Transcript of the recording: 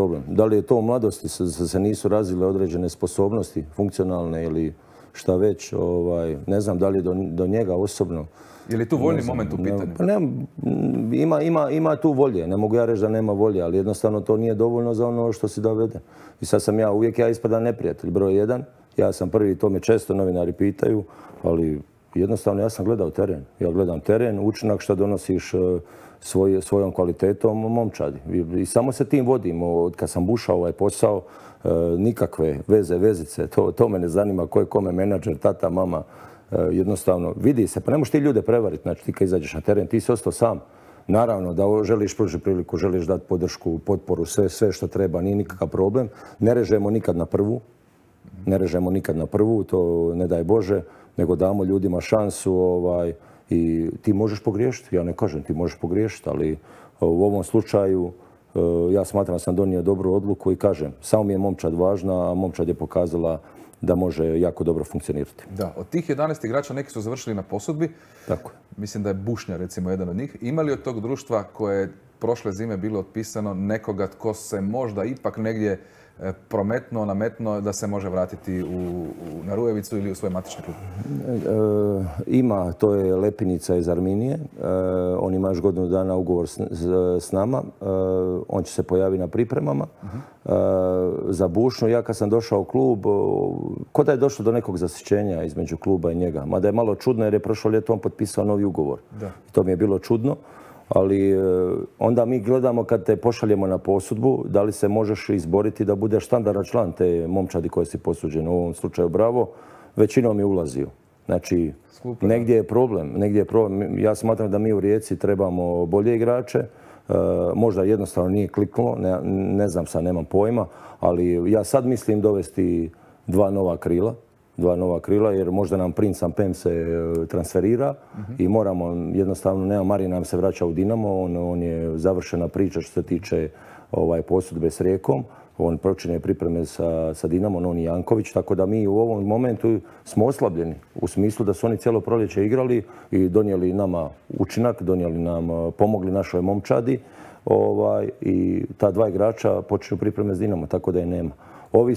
problem. Da li je to u mladosti, se nisu razvile određene sposobnosti, funkcionalne ili šta već, ne znam da li je do njega osobno. Je li tu voljni moment u pitanju? Ima tu volje, ne mogu ja reći da nema volje, ali jednostavno to nije dovoljno za ono što si dovede. I sad sam uvijek ispadam neprijatelj, broj jedan. Ja sam prvi, to me često novinari pitaju, ali jednostavno ja sam gledao teren. Ja gledam teren, učinak što donosiš svojom kvalitetom momčadi. I samo se tim vodim. Od kad sam bušao ovaj posao, nikakve vezice, to me ne zanima ko je kome menadžer, tata, mama. Jednostavno, vidi se, pa ne možeš ti ljude prevariti. Znači, ti kad izađeš na teren, ti si ostao sam. Naravno da želiš pružiti priliku, želiš dati podršku, potporu, sve što treba, nije nikakav problem. Ne režemo nikad na prvu, to ne daj Bože, nego damo ljudima šansu i ti možeš pogriješiti. Ja ne kažem ti možeš pogriješiti, ali u ovom slučaju ja smatram da sam donio dobru odluku i kažem, samo mi je momčad važna, a momčad je pokazala da može jako dobro funkcionirati. Da, od tih 11 igrača neki su završili na posudbi. Tako. Mislim da je Bušnja recimo jedan od njih. Ima li od tog društva koje je prošle zime bilo otpisano nekoga tko se možda ipak negdje nametno da se može vratiti na Rujevicu ili u svoj matični klub? Ima, to je Lepinica iz Arminije. On ima još godinu dana ugovor s nama. On će se pojaviti na pripremama. Za Bušnju, ja kad sam došao u klub, ko da je došlo do nekog zasićenja između kluba i njega. Mada je malo čudno jer je prošlo ljeto on potpisao novi ugovor. To mi je bilo čudno. Ali onda mi gledamo kad te pošaljemo na posudbu, da li se možeš izboriti da budeš standardan član te momčadi koje si posuđen. U ovom slučaju Bravo, većinom je ulazio. Znači, negdje je problem. Ja smatram da mi u Rijeci trebamo bolje igrače. Možda jednostavno nije kliknulo, ne znam sad, nemam pojma, ali ja sad mislim dovesti dva nova krila, jer možda nam Prince Ampem se transferira i moramo, jednostavno, Marija nam se vraća u Dinamo, on je završena priča što se tiče posudbe s Rijekom, on počinje pripreme sa Dinamom, on i Janković, tako da mi u ovom momentu smo oslabljeni, u smislu da su oni cijelo proljeće igrali i donijeli nama učinak, pomogli našoj momčadi i ta dva igrača počinju pripreme s Dinamo, tako da je nema. Ovi